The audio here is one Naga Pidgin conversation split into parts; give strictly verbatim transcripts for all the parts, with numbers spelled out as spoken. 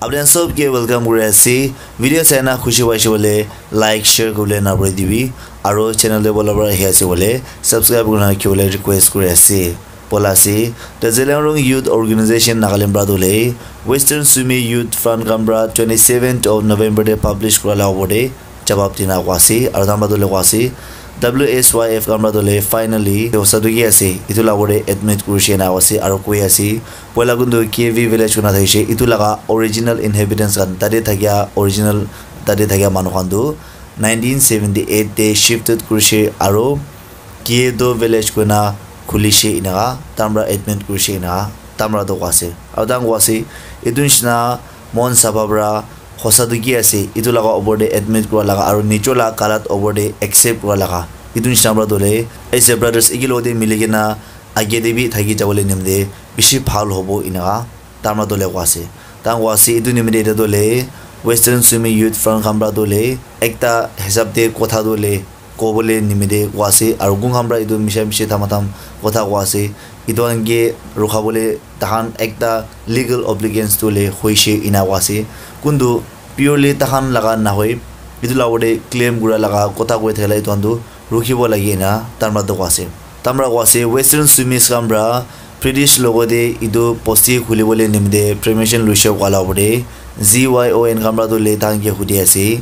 Apni khan sob ke welcome kuri ase. Video sai na khushi paise bole like, share kuribole na bhuli dibi. Aro channel te bola bora ahi ase bole subscribe kurina rakhibole request kuri ase. Bola ase. The Zeliangrong Youth Organization Nagaland pra tu le Western Sumi Youth Front khan pra twenty seventh of November te publish kura la opor te jawab dina koa ase. Aro tai khan pra tu le koa ase, W S Y F khan pra tu le finally hosa tu ki ase, etu la opor te admit kurishe ena koa ase. Aro koi ase, poila kuntu K V village kuna thakishe, etu laga original inhabitants khan, tate thakia original, tate thakia manu khan tu nineteen seventy eight te shifted kurishe aro Kiedo village koina khulishe enaka, tai khan pra admit kurishe enaka, tai khan pra tu koa ase. Aro tai khan koa ase, etu nishina mon saba pra hosa tu ki ase, etu laga opor te admit kura laga aro nijor laga galat opor te accept kura laga. Etu nishina pra tu le, as a brothers, eki logote mili kena age te bi thaki jabole nimite bishi bhal hobo enaka, tai khan pra tu le koa ase. Tai khan koa ase, etu nimite etu tu le, Western Sumi Youth Front khan pra tu le, ekta hisab te kotha tu le, kobole nimite koa ase, aro kun khan pra etu misha mishi thama tham kotha koa ase, etu khan ke rukha bole tai khan ekta legal obligations tu le hoishe ena koa ase. Kuntu purely tai khan laga nahoi, etu la opor te claim kura laga kotha koi thakila etu khan tu rukhibo lage ena tai khan pra tu koa ase. Tai khan pra koa ase, Western Sumis khan pra British logote etu bosti khulibole nimite permission luishe koa la opor te Z Y O N khan pra tu le tai khan ke hudi ase.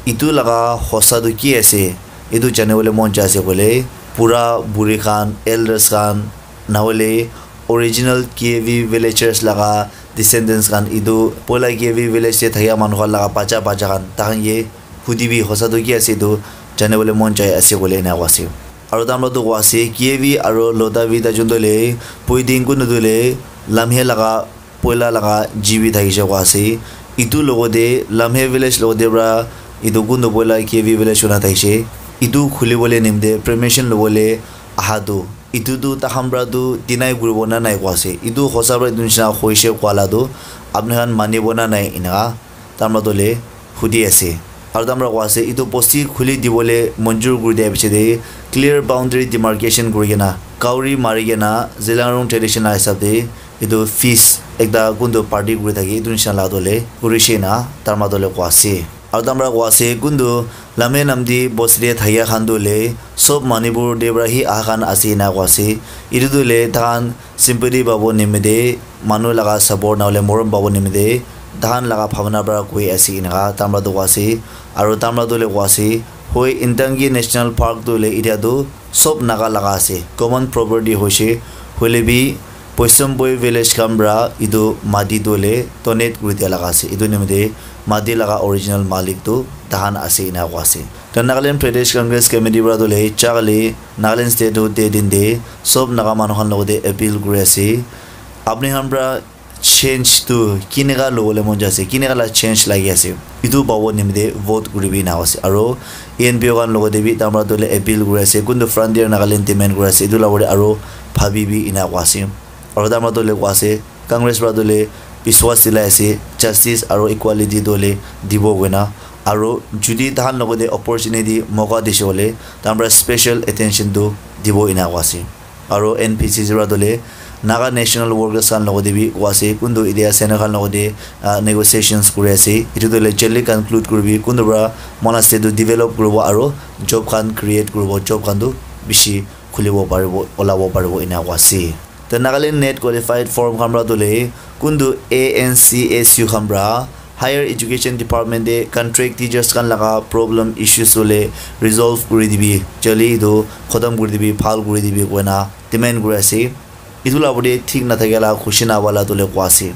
Etu laga hosa tu ki ase? Etu janibole mon jai ase koile, bura buri khan, elders khan, nahoile original K V villagers laga descendants khan, etu poila K V village te thakia manu khan laga bacha bacha khan, tai khan ke hudi bi hosa tu ki ase etu janibole mon jai ase koile ena koa ase. Aro tai khan pra tu koa ase, K V aro Lodavi tai jun tu le, Puiding kunu tu le, Lamhe laga poila laga G B thakishe koa ase. Etu logote Lamhe village logote pra etu kuntu poila K V village kuna thakishe. Etu khulibole nimite permission lobole aha tu. Etu tu tai khan pra tu deny kuribo na nai koa ase. Etu hosa pra etu nishina hoishe koa la tu apni khan manibo na nai enaka tai khan pra tu le hudi ase. Aro tai khan pra koa ase, etu bosti khuli dibole manjur kuri dia piche te clear boundary demarcation kuri kena, kauri mari kena, Zeliangrong tradition la hisab te etu feast ekta kuntu party kuri thaki etu nishina la tu le kurishe na tai khan pra tu le koa ase. Aro tai khan pra koa ase, kuntu Lamhe Namdi bosti te thakia khan tu le sob Manipur te pra hi aha khan ase ena koa ase. Etu tu le tai khan sympathy pabo nimite, manu laga support nahoile morom pabo nimite, tai khan laga bhabana pra koi ase enaka tai khan pra tu koa ase. Aro tai khan pra tu le koa ase, hoi, Intanki National Park tu le etia tu sob Naga laga ase, common property hoishe, hoile bi Poisomboi village khan pra etu mati tu le donate kuri dia laga ase. Etu nimite mati laga original malik tu tai khan ase ena koa ase. The Nagaland Pradesh Congress Committee pra tu le chakali Nagaland State Hood Day din te sob Naga manu khan logote appeal kuri ase, apni khan pra change tu kineka lobole mon jai ase, kineka la change lagi ase, etu pabo nimite vote kuribi ena koa ase. Aro E N P O khan logote bi tai khan pra tu le appeal kuri ase, kuntu Frontier Nagaland demand kuri ase, etu la opor te aro bhabibi ena koa ase. Aro tai khan pra tu le koa ase, Congress pra tu le biswas dilai ase, justice aro equality tu le dibo koina. Aro judi tai khan logote opportunity moka dishe koile, tai khan pra special attention tu dibo ena koa ase. Aro N P C C pra tu le Naga National Workers khan logote bi koa ase, kuntu etia Sena khan logote, ah, negotiations kuri ase. Etu tu le jaldi conclude kuribi, kuntu pra moila state tu develop kuribo aro job khan create kuribo, job khan tu bishi khulibo paribo, olabo paribo ena koa ase. The Nagaland NET qualified firm khan pra tu le kuntu A N C S U khan pra Higher Education Department te contract teachers khan laga problem issues hole resolve kuri dibi, jaldi etu khotom kuri dibi, bhal kuri dibi koina demand kuri ase. Etu la opor te thik nathakia la khushi nahwa la tu le koa ase.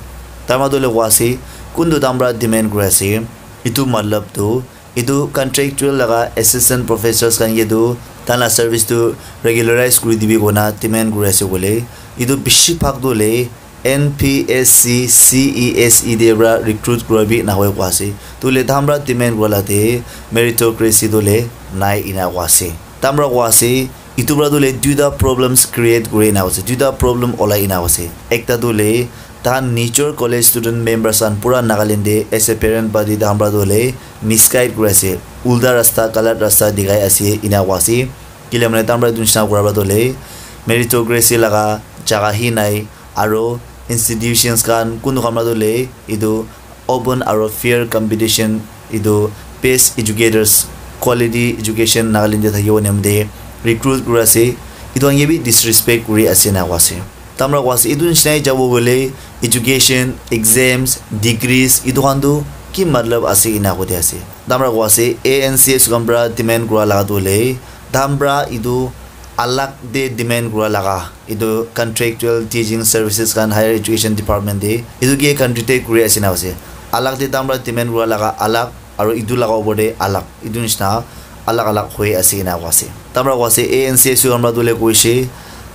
Tai khan pra tu le koa ase, kuntu tai khan pra demand kuri ase, etu matlab tu etu contractual laga assistant professors khan ke tu tai la service tu regularize kuri dibi koina demand kuri ase koile, etu bishi bhag tu le N P S C C E S E te pra recruit kura bi nahoi koa ase. Tu le tai khan pra demand kura la te meritocracy tu le nai ena koa ase. Tai khan pra koa ase, etu pra tu le duita problems create kuri ena koa ase, duita problem olai ena koa ase. Ekta tu le tai khan nijor college student members khan pura Nagaland te as a parent body tai khan pra tu le misguide kuri ase, ulta rasta, galat rasta dikhai ase ena koa ase. Kile mane tai khan pra etu nishina kura pra tu le meritocracy laga jaga hi nai, aro institutions khan kuntu khan pra tu le etu open aro fair competition, etu best educators, quality education Nagaland te thakibo nimite recruit kuri ase. Etu khan ke bi disrespect kuri ase ena koa ase. Tamra koa ase, etu nishina jabo hoile education, exams, degrees, etu khan tu ki matlab ase ena koi ase. Tamra koa ase, A N C S khan pra demand kura laga tu hoile, tamra etu alag te demand kura laga, etu contractual teaching services khan higher education department te, etu ke contract kuri ase na ase. Alag te tamra demand kura laga alag, aro etu laga opor te alag, etu nishina alag alag hoi ase ena koa ase. Tamra koa ase, A N C S U khan pra tu hoile koishe,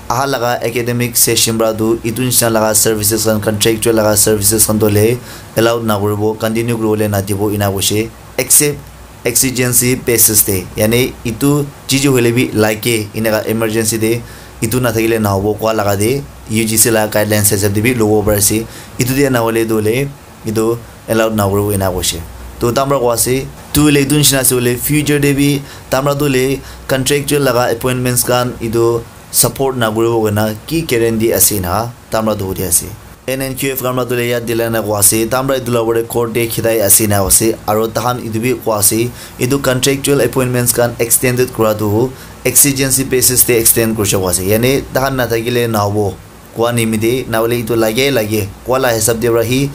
aha laga academic session pra tu etu nishina laga services khan, contractual laga services khan tu hoile allowed na kuribo, continue kuribole na dibo ena koishe, except exigency basis te, yani etu chiji hoile bi lage, eneka emergency te etu na thakile na hobo koa laga te U G C laga guidelines hisab te bi lobo pari ase. Etu te na hoile tu hoile etu allowed na kuribo ena koishe. To tamra koa ase, tu hoile etu nishina ase hoile future te bi tamra tu hoile contractual laga appointments khan etu support na kuribo koina ki guarantee ase na tamra tu hudi ase. N N Q F khan pra tu hoile yat dila na koa ase, tamra etu la opor te court te khidai ase na ase, aro tahan etu bi koa ase, etu contractual appointments khan extended kura tu exigency basis te extend kurishe koa ase, yani tahan na thakile na hobo koa nimite, na hoile etu lage lage koa la hisab te pra hi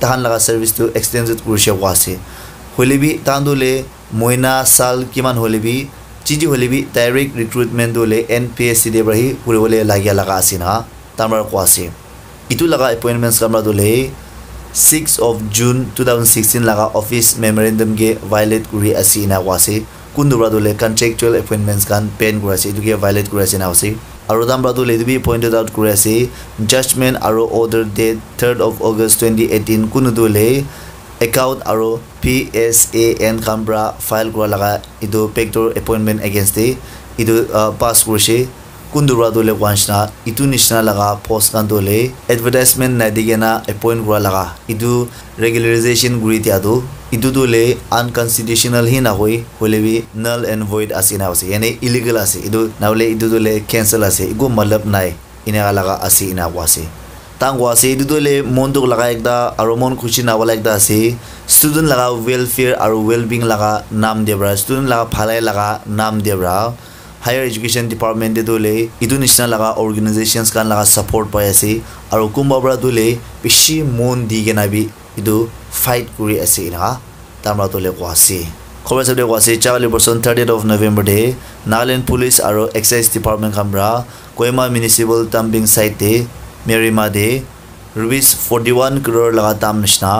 tahan laga service tu extended kurishe koa ase. Hoile bi tahan tu hoile moina sal kiman hoile bi, chiji hoile bi direct recruitment tu hoile N P S C te pra hi kuribole lage laga ase na tamra koa ase. Etu laga appointments khan pra tu hoile six of June two thousand sixteen laga office memorandum ke violate kuri ase ena koa ase. Kuntu pra tu hoile contractual appointments khan ban kuri ase, etu ke violate kuri ase ena ase. Aro tamra tu hoile etu bi pointed out kuri ase, judgment aro order date third of August twenty eighteen, kuntu tu hoile account aro P S A N khan pra file kura laga etu backdoor appointment against te etu, uh, pass kurishe. Kuntu pra tu hoile koa nishina, etu nishina laga post khan tu hoile advertisement nai di kena appoint kura laga, etu regularization kuri dia tu, etu tu hoile unconstitutional hi na hoi, hoile bi null and void ase na ase, yani illegal ase etu, na hoile etu tu hoile cancel ase, eku matlab nai, eneka laga ase ena koa ase. Tahan koa ase, etu tu hoile mon dukh laga ekta aro mon khushi na wala ekta ase. Student laga welfare aro well-being laga naam te pra, student laga bhalai laga naam te pra, higher education department te tu hoile etu nishina laga organizations khan laga support pai ase, aro kunba pra tu hoile bishi mon di kena bi etu fight kuri ase ena tamra tu hoile koa ase. Khobor hisab te koa ase, jawale person thirtieth of November te Nagaland Police aro Excise Department khan pra Kohima Municipal Dumping Site te Merima te rupees forty one crore laga dam nishina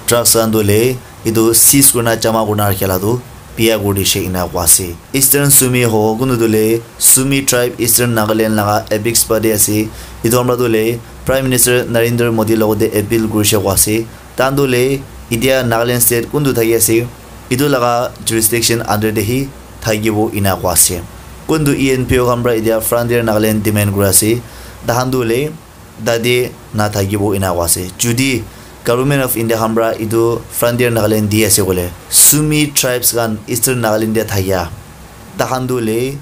drugs khan tu hoile etu seize kurina jama kurina rakhi la tu biya kuri dishe ena koa ase. Eastern Sumi ho, kuntu tu hoile Sumi tribe Eastern Nagaland laga apex body ase. Etu khan pra tu hoile Prime Minister Narendra Modi logot te appeal kurishe koa ase. Tahan tu hoile etia Nagaland state kuntu thaki ase, etu laga jurisdiction under te hi thakibo ena koa ase. Kuntu E N P O khan pra etia Frontier Nagaland demand kuri ase, tahan tu hoile tate na thakibo ena koa ase. Judi Government of India khan pra etu Frontier Nagaland di ase koile, Sumi tribes khan Eastern Nagaland te thakia, tahan tu hoile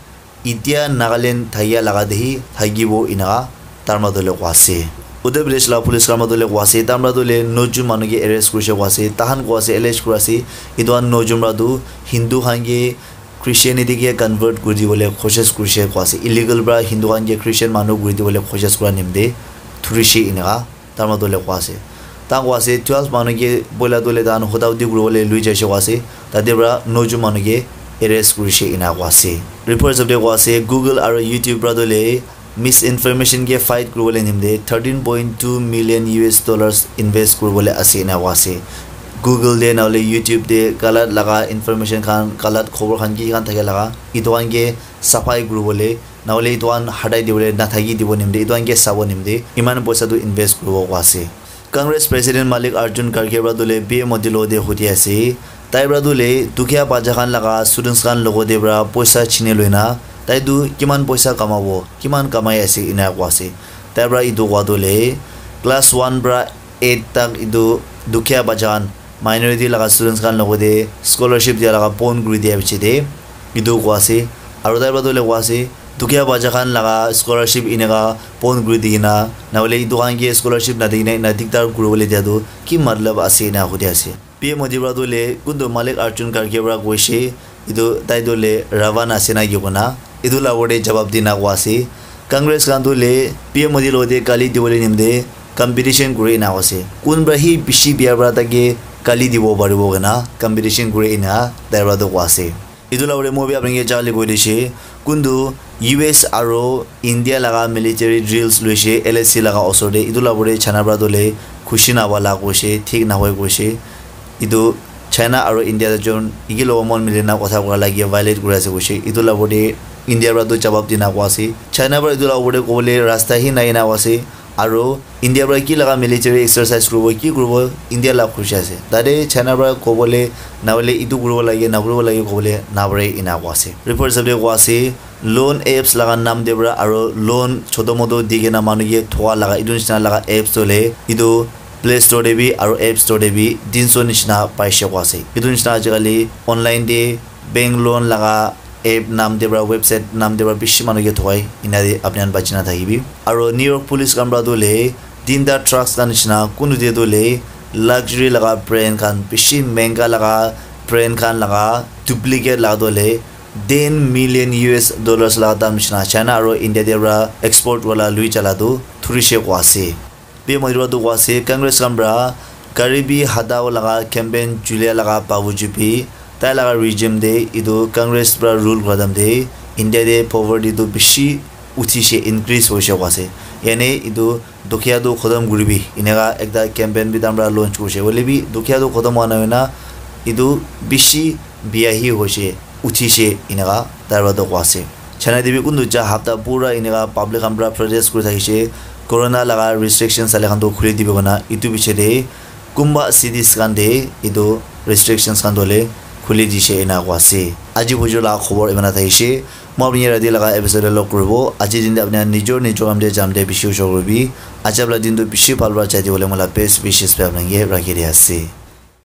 etia Nagaland thakia laga te hi thakibo ena tamra tu hoile koa ase. Uttar Pradesh la police khan pra tu hoile koa ase, tamra tu hoile nojun manu ke arrest kurishe koa ase, tahan koa ase, allege kuri ase, etu khan nojun pra tu Hindu khan ke Christianity ke convert kuri dibole koshish kurishe koa ase, illegal pra Hindu khan ke Christian manu kuri dibole koshish kura nimite thurishe eneka tamra tu hoile koa ase. Tahan koa ase twelve manu ke poila tu hoile tahan hota hoti kuribole lui jaishe koa ase, tate pra nojun manu ke arrest kurishe ena koa ase. Report hisab te koa ase Google aro YouTube pra tu hoile misinformation ke fight kuribole nimite thirteen point two million U S dollars invest kuribole ase ena koa ase. Google te na hoile YouTube te galat laga information khan, galat khobor khan ki khan thake laga, etu khan ke saphai kuribole, na hoile etu khan hatai dibole, na thaki dibo nimite, etu khan ke sabo nimite, eman poisa tu invest kuribo koa ase. Congress President Mallikarjun Kharge pra tu hoile P M Modi logot te hudi ase. Tai pra tu hoile dukhia bacha khan laga students khan logot te pra poisa chini loina, tai tu kiman poisa kamabo, kiman kamai ase ena koa ase. Tai pra etu koa tu hoile class one pra eight tak etu dukhia bacha khan, minority laga students khan logot te scholarship dia laga bon kuri dia piche te etu koa ase. Aro tai pra tu hoile koa ase, Dukhia bacha khan laga scholarship eneka pon kuri di kena, nahole etu khan ke scholarship nadi kena ena diktar kuribole dia tu ki matlab ase ena hudi ase. P M Modi para tu le kuntu Malik Arjun Kharge para koise, etu tai tu le Ravan ase na ki kona, etu la opor te jawab dina koa ase. Congress khan tu le P M Modi logote kali dibole nimite competition kuri ena koa ase. Kun para hi bishi bia para take kali dibo paribo kena competition kuri ena tai para tu koa ase. Etu la opor te moi bi apni ke jale koi dishe, kuntu U S aro India laga military drills loise L A C laga osor te, etu la opor te China para tu le khushi na wala koise, thik na hoi koise. Etu China aro India jon iki logo mon mili na kotha kura lagi violate kuri ase koise. Etu la opor te India para tu jawab dina koa ase. China para etu la opor te kobole rasta hi nai na koa ase. Aro India para ki laga military exercise kuribo, ki kuribo, India la khushi ase. Tate China para kobole nahole etu kuribo lage, na kuribo lage kobole na pare ena koa ase. Report hisab te koa ase, loan apps laga naam te para aro loan choto moto di kena manu ke thoa laga, etu nishina laga apps tu le, etu Play Store te bi aro App Store te bi tinso nishina paise koa ase. Etu nishina ajikali online te bank loan laga app naam te para, website naam te para bishi manu ke thokai, ena te apni khan bachi na thakibi. Aro New York police khan para tu le tinta trucks khan nishina kuntu te tu le luxury laga brand khan, bishi menga laga brand khan laga duplicate laga tu le ten million U S dollars laga dam nishina China aro India te para export wala lui jala tu thurishe koa ase. P M Modi para tu koa ase, Congress khan para Garibi Hatao laga campaign julia laga babu jupi, tai laga regime te etu Congress para rule kura time te India te poverty tu bishi uthi she, increase hoise koa ase. Yane etu dukhia tu khotom kuribi, eneka ekta campaign bi tai para launch kurise. Hoile bi dukhia tu khotom hwa nai na, etu bishi bia hi hoise, uthi she, eneka tai para tu koa ase. China te bi kuntu ja hapta pura eneka public khan para protest kuri thakise, corona laga restriction sale khan tu khuli dibi kona, etu piche te kunba cities khan te etu restrictions khan tu le khuli dishe ena koa ase. Aji bujur laga khobor imana thakise. Moi apni rati laga episode te log kuribo. Aji din te apni nijor nijor kam te jam te bishi ushor kuribi. Aji apni din tu bishi bhal para jai dibole moi la best wishes pe apni ke rakhi di ase.